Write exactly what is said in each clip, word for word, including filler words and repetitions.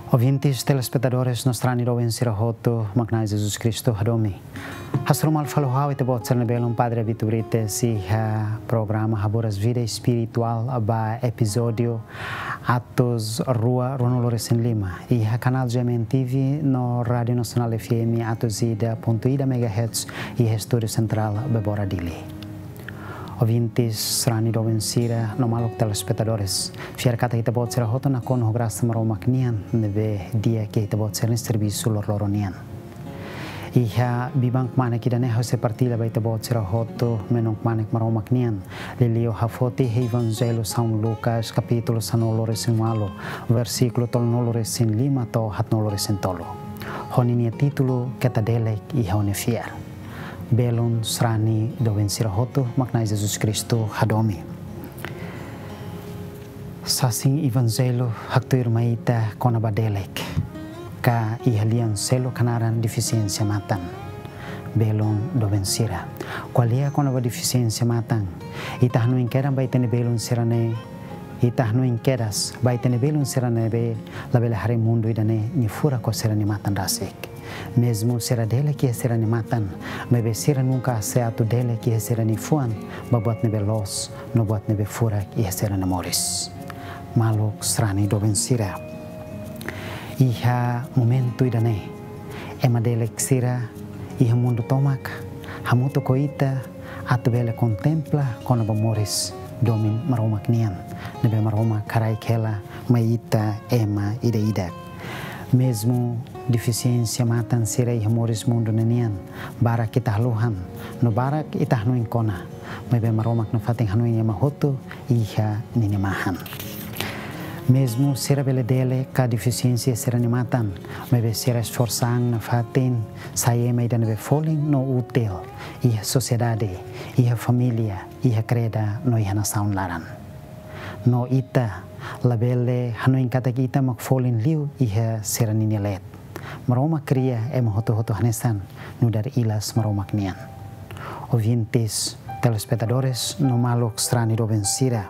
Ouvintes, telespetadores, no sarani doben sira hotu, mak Na'i Jesus Kristu hadomi. Hasoru malu fali ho ha'u, ita-boot sira-nia belun Padre Vito Brites, iha programa Haburas Vida Espirituál ba epizódiu atus rua ruanulu-resin-lima, iha kanál G M N T V no Rádiu Nasionál F M atus ida pontu ida megahertz, iha estúdiu sentrál Bebora, Dili. Ouvintes, sarani doben sira no maluk telespetadores, fiar katak ita-boot sira hotu nakonu ho grasa Maromak nian, ne'ebé di'ak iha ita-boot sira-nia servisu loroloron nian. Iha biban kmanek ida-ne'e ha'u sei partilla ba ita-boot sira hotu menuk kmanek Maromak nian, liuliu hafoto iha Evanjellu São Lucas, kapítulu sanulu-resin-ualu, versíkulu tolunulu-resin-lima to'o haatnulu-resin-tolu. Ho ninia títulu: Keta delek iha ó-nia fiar. Belun, sarani doben sira hotu, mak Na'i Jesus Kristu hadomi. Sasin Evanjellu haktuir mai ita kona-ba delek, ka iha lian seluk hanaran defisiénsia matan. Belun, doben sira, ko'alia kona-ba defisiénsia matan, ita hanoin kedas ba ita-nia belun sira-ne'e, ita hanoin kedas ba ita-nia belun sira ne'ebé labele haree mundu ida-ne'e nia furak ho sira-nia matan rasik. Mezmu sira delek iha sira-nia matan, maibé sira nunka hasa'e atu delek iha sira-nia fuan ba buat ne'ebé loos no buat ne'ebé furak iha sira-nia moris. Maluk, sarani doben sira, iha momentu ida-ne'e, ema delek sira iha mundu tomak hamutuk ho ita atu bele kontempla kona-ba moris domin Maromak nian, ne'ebé Maromak haraik hela mai ita ema ida-idak. Mezmu defisiénsia matan sira iha moris mundu ne'e nian, barak ita haluhan, no barak ita hanoin kona, maibé Maromak nafatin hanoin ema hotu iha ninia mahan. Mezmu sira bele delek ka defisiénsia sira-nia matan, maibé sira esforsa an nafatin sai ema ida ne'ebé folin no útil iha sosiedade, iha família, iha kreda no iha nasaun laran. No ita labele hanoin katak ita mak folin liu iha sira ninia leet. Maromak kria ema hotu-hotu hanesan nu'udar ilas Maromak nian. Ouvintes, telespetadores no maluk, sarani doben sira,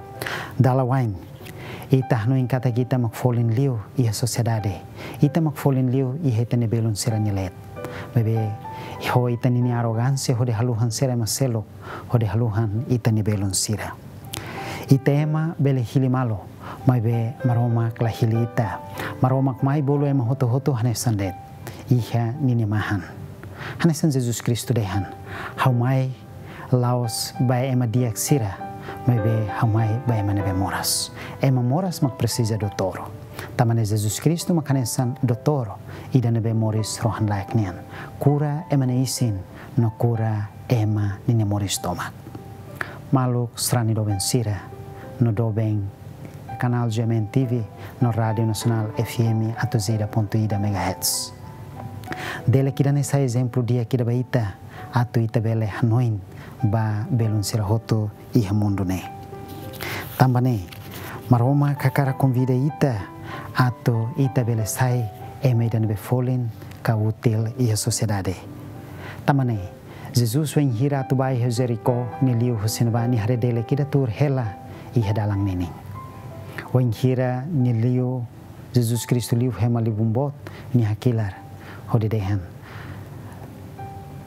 dala wa'in ita hanoin katak ita mak folin liu iha sosiedade, ita mak folin liu iha ita-nia belun sira-nia leet. Maibé ho ita ninia arrogánsia hodi haluhan sira ema seluk, hodi haluhan ita-nia belun sira. Ita ema bele hili malu, maibé Maromak la hili ita. Maromak mai bolu ema hotu-hotu hanesan de'it, iha ninia mahan. Hanesan Jesus Kristu dehan: Ha'u mai la'ós ba ema di'ak sira, maibé ha'u mai ba ema ne'ebé moras. Ema moras mak presiza doutór. Tanba ne'e Jesus Kristu mak hanesan doutór ida ne'ebé moris rohan-laek nian, kura ema nia isin no kura ema ninia moris tomak. Maluk, sarani doben sira, no doben kanál G M N T V no Rádiu Nasionál F M atus ida pontu ida megahertz. Delek ida-ne'e sai ezemplu di'ak ida ba ita, atu ita bele hanoin ba belun sira hotu iha mundu ne'e. Tanba ne'e, Maromak hakarak konvida ita atu ita bele sai ema ida ne'ebé folin ka útil iha sosiedade. Tanba ne'e, Jesus wainhira atu bá iha Jerikó, nia liu husi ne'ebá, nia haree delek ida tuur hela iha dalan ninin. Wainhira nia liu, Jesus Kristu liu ho ema libun boot, nia hakilar hodi dehan: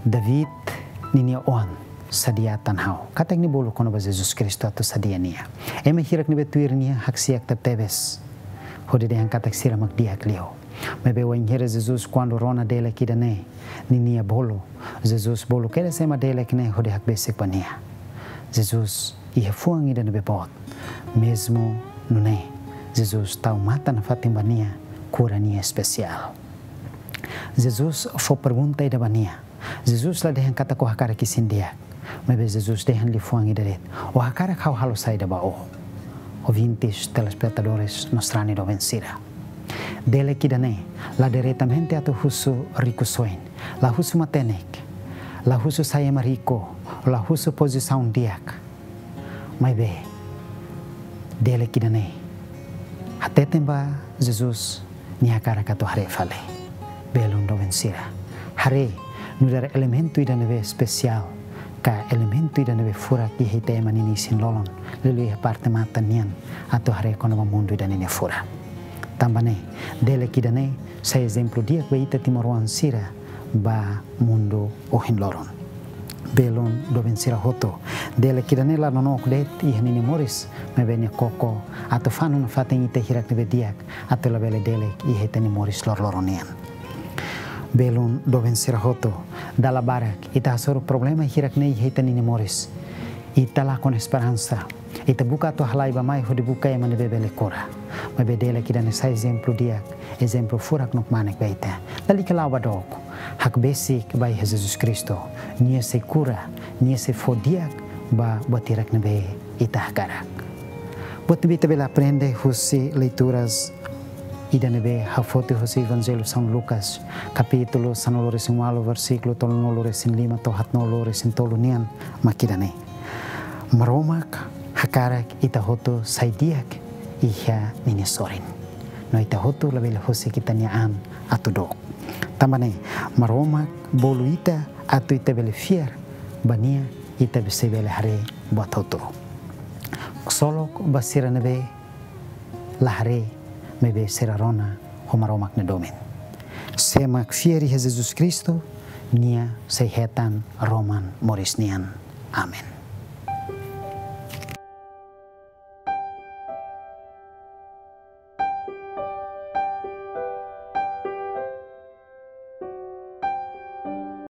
David ninia oan, sadia tan ha'u. Katak nia bolu kona-ba Jesus Kristu atu sadia nia. Ema hirak ne'ebé tuir nia haksi'ak tebetebes, hodi dehan katak sira mak di'ak liu. Maibé wainhira Jesus kuandu rona delek ida-ne'e, ninia bolu, Jesus bolu kedas ema delek ne'e hodi hakbesik ba nia. Jesus iha fuan ida ne'ebé boot. Mezmu nune'e, Jesus tau matan nafatin ba nia, kura nia espesiál. Jesus fó pergunta ida ba nia. Jesus la dehan katak ó hakarak isin di'ak, maibé Jesus dehan liafuan ida de'it: Ó hakarak ha'u halo saida ba ó? Ouvintes, telespetadores no sarani doben sira, delek ida-ne'e la diretamente atu husu riku-soin, la husu matenek, la husu sai ema riku, la husu pozisaun di'ak. Maibé, delek ida-ne'e Hateten ba Jesus nia hakarak atu haree fali. Belun doben sira, haree nu'udar elementu ida ne'ebé espesiál ka elementu ida ne'ebé furak iha ita ema nia isin-lolon, liuliu iha parte matan nian, atu haree kona-ba mundu ida ne'e nia furak. Tanba ne'e, delek ida-ne'e sai ezemplu di'ak ba ita timoroan sira ba mundu ohin loron. Belun doben sira hotu, delek ida-ne'e la nonook de'it iha ninia moris, maibé nia koko atu fanu nafatin ita hirak ne'ebé di'ak, atu labele delek iha ita-nia moris loroloron nian. Belun doben sira hotu, dala barak ita hasoru problema hirak ne'e iha ita-nia moris. Ita lakon esperansa. Ita buka atu halai bá-mai hodi buka ema ne'ebé bele kura. Maibé delek ida-ne'e sai ezemplu di'ak, ezemplu furak no kmanek ba ita. Lalika la'o ba dook. Hakbesik bá iha Jesus Kristu. Nia sei kura, nia sei fó di'ak ba buat hirak ne'ebé ita hakarak. Buat ne'ebé ita bele aprende husi leituras ida ne'ebé hafoti husi Evanjellu São Lucas, kapítulu sanulu-resin-ualu, versíkulu tolunulu-resin-lima to'o haatnulu-resin-tolu nian, mak ida-ne'e. Maromak hakarak ita hotu sai di'ak iha ninia sorin. No ita hotu labele husik ita-nia an atu dook. Tanba ne'e, Maromak bolu ita atu ita bele fiar ba nia, ita sei bele haree buat hotu. Ksolok ba sira ne'ebé la haree, maibé sira rona ho Maromak nia domin. Sé mak fiar iha Jesus Kristu, nia sei hetan roman moris nian. Amen.